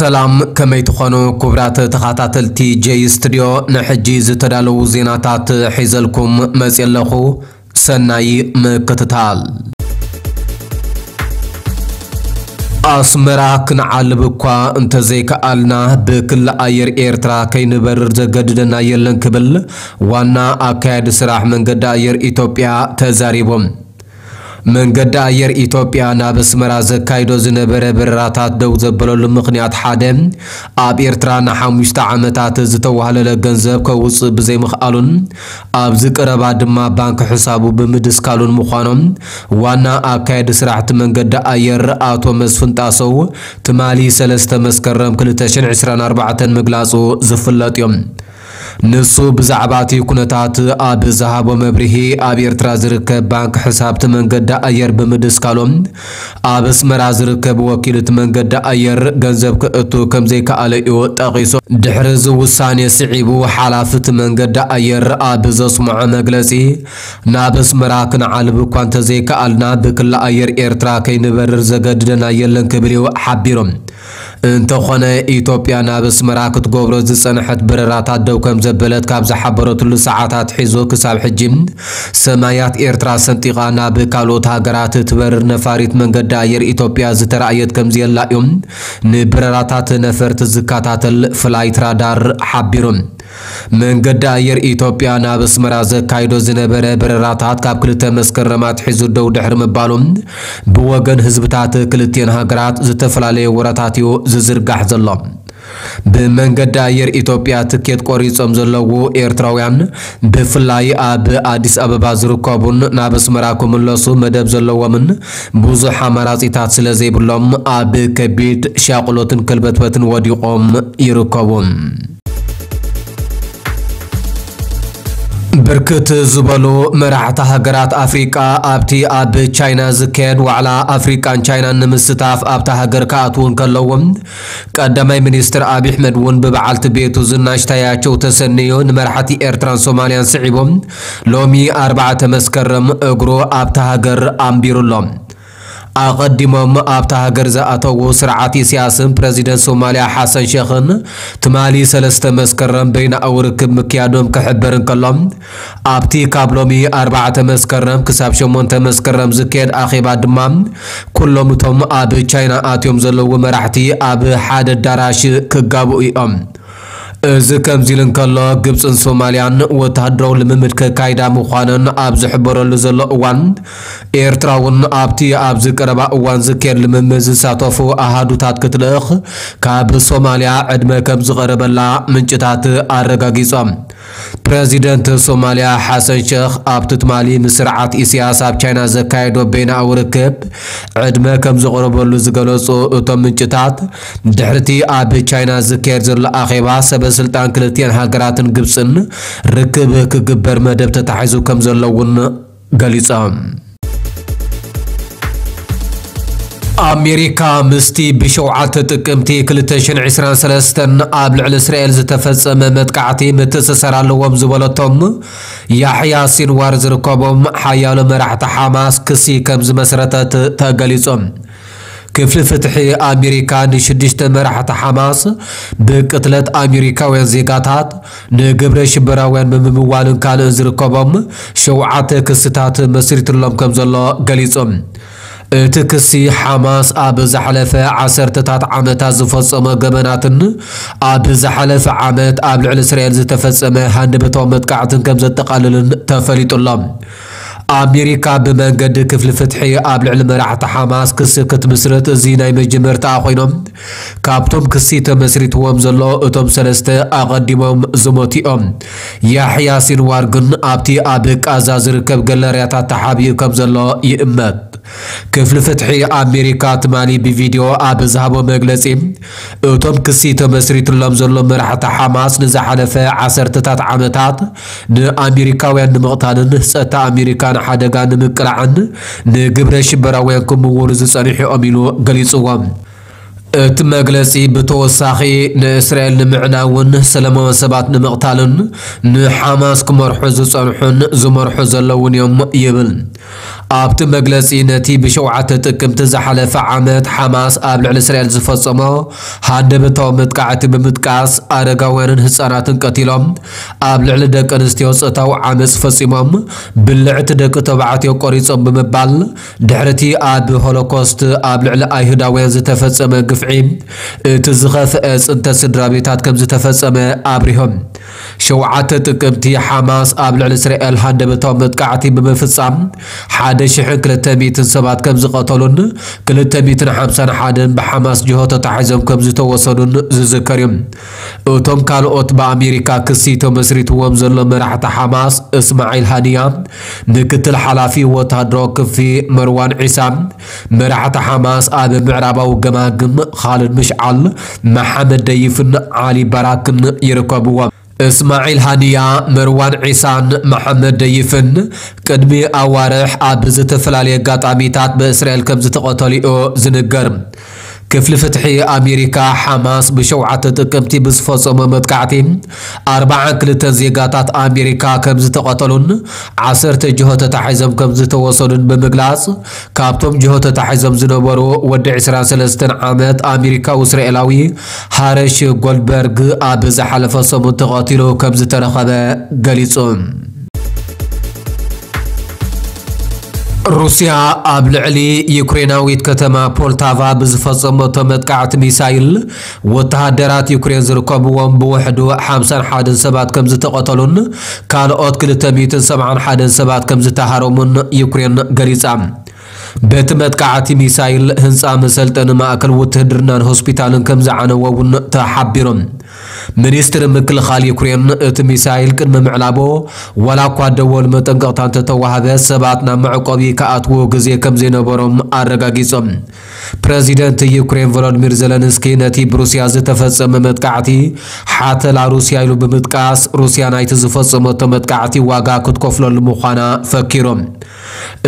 ሰላም፣ ከመይ ትኾኑ ክቡራት ተኸታተልቲ ጄይ ስቱድዮ? ንሕጂ ዝተዳለዉ ዜናታት ሒዘልኩም መፅየ ኣለኹ። ሰናይ ምክትታል። ኣስመራ ክንዓልብ እኳ እንተዘይከኣልና፣ ብክሊ ኣየር ኤርትራ ከይንበርር ዘገድደና የለን ክብል ዋና ኣካያዲ ስራሕ መንገዲ ኣየር ኢትዮጵያ ተዛሪቦም። መንገዲ ኣየር ኢትዮጵያ ናብ ኣስመራ ዘካይዶ ዝነበረ በረራታት ደው ዘበለሉ ምኽንያት ሓደ፣ ኣብ ኤርትራ ንሓሙሽተ ዓመታት ዝተዋህለለ ገንዘብ ከውጽእ ብዘይምኽኣሉን ኣብዚ ቀረባ ድማ ባንክ ሕሳቡ ብምድስካሉን ምዃኖም ዋና ኣካያዲ ስራሕቲ መንገዲ ኣየር ኣቶ መስፍን ጣሰው ትማሊ ሰለስተ መስከረም ክልተ ሽሕን ዕስራን ኣርባዕተን ምግላጹ ዝፍለጥ እዩ። ንሱ ብዛዕባ እቲ ኩነታት ኣብ ዝሃቦ መብርሂ፣ ኣብ ኤርትራ ዝርከብ ባንክ ሕሳብ እቲ መንገዲ ኣየር ብምድስካሎም፣ ኣብ ኣስመራ ዝርከብ ወኪል እቲ መንገዲ ኣየር ገንዘብ ክእቱ ከም ዘይከኣለ እዩ ጠቒሱ። ድሕሪ እዚ ውሳኔ ስዒቡ፣ ሓላፊ እቲ መንገዲ ኣየር ኣብ ዘስምዖ መግለጺ፣ ናብ ኣስመራ ክንዓልብ እኳ እንተዘይከኣልና፣ ብክሊ ኣየር ኤርትራ ከይንበርር ዘገድደና የለን ክብል እዩ ሓቢሩ። እንተኾነ፣ ኢትዮጵያ ናብ ኣስመራ ክትገብሮ ዝጸንሐት በረራታት ደው ከም ዘበለት ካብ ዝሓበረትሉ ሰዓታት ሒዙ ክሳብ ሕጂ ሰማያት ኤርትራ ሰንጢቓ ናብ ካልኦት ሃገራት እትበርር ነፋሪት መንገዲ ኣየር ኢትዮጵያ ዝተራእየት ከም ዘየላ እዩ ንበረራታት ነፈርቲ ዝከታተል ፍላይት ራዳር ሓቢሩ። መንገዲ ኣየር ኢትዮጵያ ናብ ኣስመራ ዘካይዶ ዝነበረ በረራታት ካብ ክልተ መስከረም ኣትሒዙ ደው ድሕሪ ምባሉ፣ ብወገን ህዝብታት ክልቲኤን ሃገራት ዝተፈላለየ ወረታት እዩ ዝዝርጋሕ ዘሎ። ብመንገዲ ኣየር ኢትዮጵያ ትኬት ቆሪጾም ዘለዉ ኤርትራውያን፣ ብፍላይ ኣብ ኣዲስ ኣበባ ዝርከቡን ናብ ኣስመራ ክምለሱ መደብ ዘለዎምን ብዙሕ ኣማራጺታት ስለ ዘይብሎም፣ ኣብ ከቢድ ሻቕሎትን ከልበትበትን ወዲቖም ይርከቡ። ብርክት ዝበሉ መራሕቲ ሃገራት ኣፍሪቃ ኣብቲ ኣብ ቻይና ዝካየድ ዋዕላ ኣፍሪቃን ቻይናን ንምስታፍ ኣብታ ሃገር ክኣትዉ እንከለዉ፣ ቀዳማይ ሚኒስትር ኣብይ ኣሕመድ እውን ብበዓልቲ ቤቱ ዝናሽ ታያቸው ተሰንዩ ንመራሕቲ ኤርትራን ሶማልያን ስዒቡ ሎሚ ኣርባዕተ መስከረም እግሩ ኣብታ ሃገር ኣንቢሩ ኣሎ። ኣቐዲሞም ኣብታ ሃገር ዝኣተዉ ስርዓት ኢሳያስን ፕረዚደንት ሶማልያ ሓሰን ሸኽን ትማሊ ሰለስተ መስከረም በይናዊ ርክብ ምክያዶም ክሕበር እንከሎ፣ ኣብቲ ካብ ሎሚ ኣርባዕተ መስከረም ክሳብ ሸሞንተ መስከረም ዝካየድ ኣኼባ ድማ፣ ኩሎም እቶም ኣብ ቻይና ኣትዮም ዘለዉ መራሕቲ ኣብ ሓደ ኣዳራሽ ክጋብኡ እዮም። እዚ ከምዚ ኢሉ እንከሎ፣ ግብጽን ሶማልያን ወተሃደራዊ ልምምድ ከካይዳ ምዃነን ኣብ ዝሕበረሉ ዘሎ እዋን፣ ኤርትራ እውን ኣብቲ ኣብዚ ቀረባ እዋን ዝካየድ ልምምድ ዝሳተፉ ኣሃዱታት ክትልእኽ ካብ ሶማልያ ዕድመ ከም ዝቐረበላ ምንጭታት ኣረጋጊጾም። ፕረዚደንት ሶማልያ ሓሰን ሸኽ ኣብቲ ትማሊ ምስ ስርዓት ኢሳያስ ኣብ ቻይና ዘካየዶ በይናዊ ርክብ ዕድመ ከም ዘቕረበሉ ዝገለጹ እቶም ምንጭታት፣ ድሕሪቲ ኣብ ቻይና ዝካየድ ዘሎ ኣኼባ ሰበ ስልጣን ክልቲኤን ሃገራትን ግብጽን ርክብ ክግበር መደብ ተታሒዙ ከም ዘሎ እውን ገሊጾም። ኣሜሪካ ምስቲ ብሸውዓተ ጥቅምቲ ክልተ ሽሕን ዕስራን ሰለስተን ኣብ ልዕሊ እስራኤል ዝተፈጸመ መጥቃዕቲ ምትእስሳር ኣለዎም ዝበለቶም ያሕያ ሲንዋር ዝርከቦም ሓያሎ መራሕቲ ሓማስ ክሲ ከም ዝመስረተት ተገሊጹ። ክፍሊ ፍትሒ ኣሜሪካ ንሽዱሽተ መራሕቲ ሓማስ ብቅትለት ኣሜሪካውያን ዜጋታት ንግብረ ሽበራውያን ብምምዋልን ካልእን ዝርከቦም ሸውዓተ ክስታት መስሪትሎም ከም ዘሎ ገሊጹ። እቲ ክሲ ሓማስ ኣብ ዝሓለፈ ዓሰርተታት ዓመታት ዝፈጸሞ ገበናትን ኣብ ዝሓለፈ ዓመት ኣብ ልዕሊ እስራኤል ዝተፈጸመ ሃንደበታዊ መጥቃዕትን ከም ዘጠቓልልን ተፈሊጡ ኣሎ። ኣሜሪካ ብመንገዲ ክፍሊ ፍትሒ ኣብ ልዕሊ መራሕቲ ሓማስ ክሲ ክትምስርት እዚ ናይ መጀመርታኣ ኮይኖም፣ ካብቶም ክሲ ተመስሪትዎም ዘሎ እቶም ሰለስተ ኣቐዲሞም ዝሞቱ እዮም። ያሕያ ሲንዋር ግን ኣብቲ ኣብ ቃዛ ዝርከብ ገለርያታት ተሓቢኡ ከም ዘሎ ይእመት። ክፍሊ ፍትሒ ኣሜሪካ ትማሊ ብቪድዮ ኣብ ዝሃቦ መግለጺ፣ እቶም ክሲ ተመስሪትሎም ዘሎ መራሕቲ ሓማስ ንዝሓለፈ ዓሰርተታት ዓመታት ንኣሜሪካውያን ንምቕታልን ጸጥታ ኣሜሪካ ንሓደጋ ንምቅላዕን ንግብረ ሽበራውያን ክምውሉ ዝጸንሑ እዮም ኢሉ ገሊጽዎም። እቲ መግለጺ ብተወሳኺ ንእስራኤል ንምዕናውን ሰላማውያን ሰባት ንምቕታልን ንሓማስ ክመርሑ ዝጸንሑን ዝመርሑ ዘለውን እዮም ይብል። ኣብቲ መግለጺ ነቲ ብሸውዓተ ጥቅምቲ ዝሓለፈ ዓመት ሓማስ ኣብ ልዕሊ እስራኤል ዝፈጸሞ ሃንደበታዊ መጥቃዕቲ ብምጥቃስ ኣረጋውያንን ህጻናትን ቀቲሎም ኣብ ልዕሊ ደቂ ኣንስትዮ ጾታዊ ዓመጽ ፈጺሞም ብልዕቲ ደቂ ተባዕትዮ ቆሪጾም ብምባል ድሕርቲ ኣብ ሆሎኮስት ኣብ ልዕሊ ኣይሁዳውያን ዝተፈጸመ ግፍዒ እቲ ዝኸፍአ ጽንተት ስድራ ቤታት ከም ዝተፈጸመ ኣብሪሆም። ሸውዓተ ጥቅምቲ ሓማስ ኣብ ልዕሊ እስራኤል ሃንደበታዊ መጥቃዕቲ ብምፍጻም ሓደ ሽሕን ክልተ ሚእትን ሰባት ከም ዝቐተሉን ክልተ ሚእትን ሓምሳን ሓደን ብሓማስ ጅሆ ተታሒዞም ከም ዝተወሰዱን ዝዝከር እዩ። እቶም ካልኦት ብኣሜሪካ ክሲ ተመስሪትዎም ዘሎ መራሕቲ ሓማስ እስማዒል ሃኒያ፣ ምክትል ሓላፊ ወታደራዊ ክፍሊ መርዋን ዒሳ፣ መራሕቲ ሓማስ ኣብ ምዕራባዊ ገማግም ኻልድ ምሽዓል፣ መሓመድ ደይፍን ዓሊ ባራክን ይርከብዎም። እስማዒል ሃኒያ፣ መርዋን ዒሳን መሓመድ ደይፍን ቅድሚ ኣዋርሕ ኣብ ዝተፈላለየ ኣጋጣሚታት ብእስራኤል ከም ዝተቐተሉ እዩ ዝንገር። ክፍሊ ፍትሒ ኣሜሪካ፣ ሓማስ ብሸውዓተ ጥቅምቲ ብዝፈጸሞ መጥቃዕቲ ኣርባዓን ክልተን ዜጋታት ኣሜሪካ ከም ዝተቐተሉን ዓሰርተ ጅሆ ተታሒዞም ከም ዝተወሰዱን ብምግላጽ፣ ካብቶም ጅሆ ተታሒዞም ዝነበሩ ወዲ ዕስራን ሰለስተን ዓመት ኣሜሪካዊ እስራኤላዊ ሃረሽ ጎልድበርግ ኣብ ዝሓለፈ ሰሙን ተቐቲሉ ከም ዝተረኸበ ገሊጹ። ሩስያ ኣብ ልዕሊ ዩክሬናዊት ከተማ ፖልታቫ ብዝፈጸመቶ መጥቃዕቲ ሚሳይል፣ ወተሃደራት ዩክሬን ዝርከብዎም ብውሕዱ ሓምሳን ሓደን ሰባት ከም ዝተቐተሉን ካልኦት ክልተ ሚእትን ሰብዓን ሓደን ሰባት ከም ዝተሃረሙን ዩክሬን ገሊጻ። በቲ መጥቃዕቲ ሚሳይል፣ ህንጻ መሰልጠኒ ማእከል ውትህድርናን ሆስፒታልን ከም ዝዓነወ እውን ተሓቢሩ። ሚኒስትሪ ምክልኻል ዩክሬን፣ እቲ ሚሳይል ቅድሚ ምዕላቦ፣ ዋላ እኳ ደወል መጠንቀቕታ እንተተዋህበ፣ ሰባት ናብ መዕቆቢ ክኣትዉ ግዜ ከም ዘይነበሮም ኣረጋጊጾም። ፕረዚደንት ዩክሬን ቮሎዲሚር ዘለንስኪ ነቲ ብሩስያ ዝተፈጸመ መጥቃዕቲ ሓተላ ሩስያ ኢሉ ብምጥቃስ፣ ሩስያ ናይቲ ዝፈጸመቶ መጥቃዕቲ ዋጋ ክትከፍለሉ ምዃና ፈኪሮም።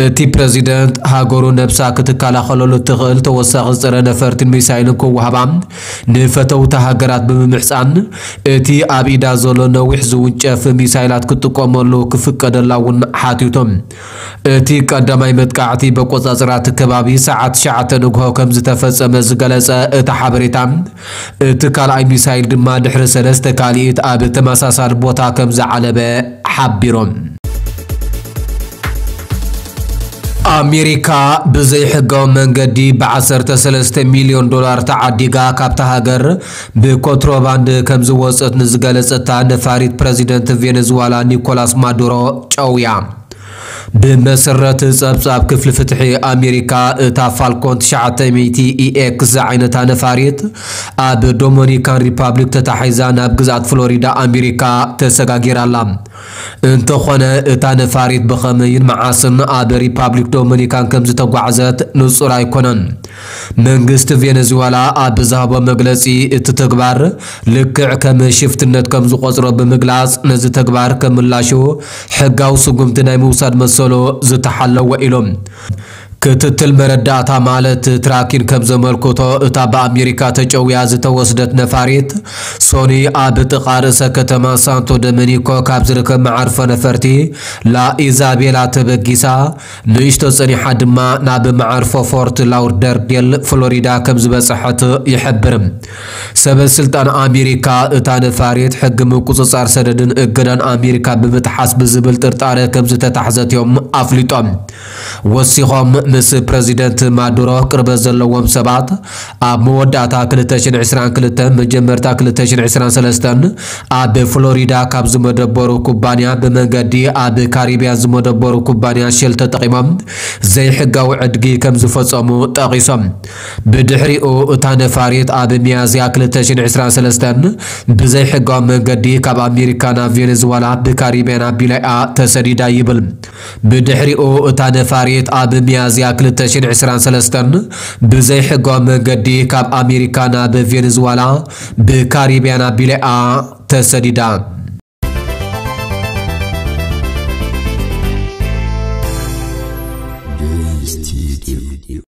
እቲ ፕረዚደንት፣ ሃገሩ ነብሳ ክትከላኸለሉ እትኽእል ተወሳኺ ጸረ ነፈርትን ሚሳይልን ክወሃባ ንፈተውቲ ሃገራት ብምምሕጻን፣ እቲ ኣብ ኢዳ ዘሎ ነዊሕ ዝውንጨፍ ሚሳይላት ክትጥቀመሉ ክፍቀደላ እውን ሓቲቶም። እቲ ቀዳማይ መጥቃዕቲ በቆጻጽራ እቲ ከባቢ ሰዓት ትሽዓተ ንግሆ ከም ዝተፈጸመ ዝገለጸ እቲ ሓበሬታ፣ እቲ ካልኣይ ሚሳይል ድማ ድሕሪ ሰለስተ ካልኢት ኣብ ተመሳሳሊ ቦታ ከም ዝዓለበ ሓቢሮም። ኣሜሪካ ብዘይሕጋዊ መንገዲ ብ ዓሰርተ ሰለስተ ሚልዮን ዶላር ተዓዲጋ ካብታ ሃገር ብኮንትሮባንድ ከም ዝወጸት ንዝገለጸታ ነፋሪት ፕረዚደንት ቬነዝዋላ ኒኮላስ ማዱሮ ጨውያ። ብመሰረት ጸብጻብ ክፍሊ ፍትሒ ኣሜሪካ፣ እታ ፋልኮን ትሽዓተ ሚእቲ ኢኤክስ ዝዓይነታ ነፋሪት ኣብ ዶሚኒካን ሪፓብሊክ ተታሒዛ ናብ ግዝኣት ፍሎሪዳ ኣሜሪካ ተሰጋጊራ ኣላ። እንተኾነ፣ እታ ነፋሪት ብኸመይን መዓስን ኣብ ሪፓብሊክ ዶሚኒካን ከም ዝተጓዕዘት ንጹር ኣይኮነን። መንግስቲ ቬነዙዌላ ኣብ ዝሃቦ መግለጺ፣ እቲ ተግባር ልክዕ ከም ሽፍትነት ከም ዝቖጽሮ ብምግላጽ፣ ነዚ ተግባር ከም ምላሹ ሕጋዊ ስጉምቲ ናይ ምውሳድ መሰሉ ዝተሓለወ ኢሎም። ክትትል መረዳእታ ማለት ትራኪን ከም ዘመልክቶ፣ እታ ብኣሜሪካ ተጨውያ ዝተወስደት ነፋሪት፣ ሶኒ ኣብ ጥቓ ርእሰ ከተማ ሳንቶ ዶሚኒኮ ካብ ዝርከብ መዓርፎ ነፈርቲ ላ ኢዛቤላ ተበጊሳ፣ ንእሽቶ ጸኒሓ ድማ ናብ መዓርፎ ፎርት ላውደርዴል ፍሎሪዳ ከም ዝበጽሐት ይሕብር። ሰበ ስልጣን ኣሜሪካ፣ እታ ነፋሪት ሕጊ ምቁጽጻር ሰደድን እገዳን ኣሜሪካ ብምጥሓስ ብዝብል ጥርጣረ ከም ዝተታሕዘት እዮም ኣፍሊጦም። ወሲኾም፣ ምስ ፕረዚደንት ማዱሮ ቅርበት ዘለዎም ሰባት ኣብ መወዳእታ ክልተ ሽሕን ዕስራን ክልተን መጀመርታ ክልተ ሽሕን ዕስራን ሰለስተን ኣብ ፍሎሪዳ ካብ ዝመደበሩ ኩባንያ ብመንገዲ ኣብ ካሪብያን ዝመደበሩ ኩባንያ ሼል ተጠቒሞም ዘይሕጋዊ ዕድጊ ከም ዝፈጸሙ ጠቒሶም። ብድሕሪኡ እታ ነፋሪት ኣብ ሚያዝያ ክልተ ሽሕን ዕስራን ሰለስተን ብዘይሕጋዊ መንገዲ ካብ ኣሜሪካ ናብ ቬኔዙዋላ ብካሪብያን ኣቢላ እያ ተሰዲዳ ይብል። ብድሕሪኡ እታ ነፋሪት ኣብ ሚያዝያ ክልተ ሽሕን ዕስራን ሰለስተን ብዘይሕጋዊ መንገዲ ካብ ኣሜሪካ ናብ ቬኔዙዋላ ብካሪብያን ኣቢላ እያ ተሰዲዳ።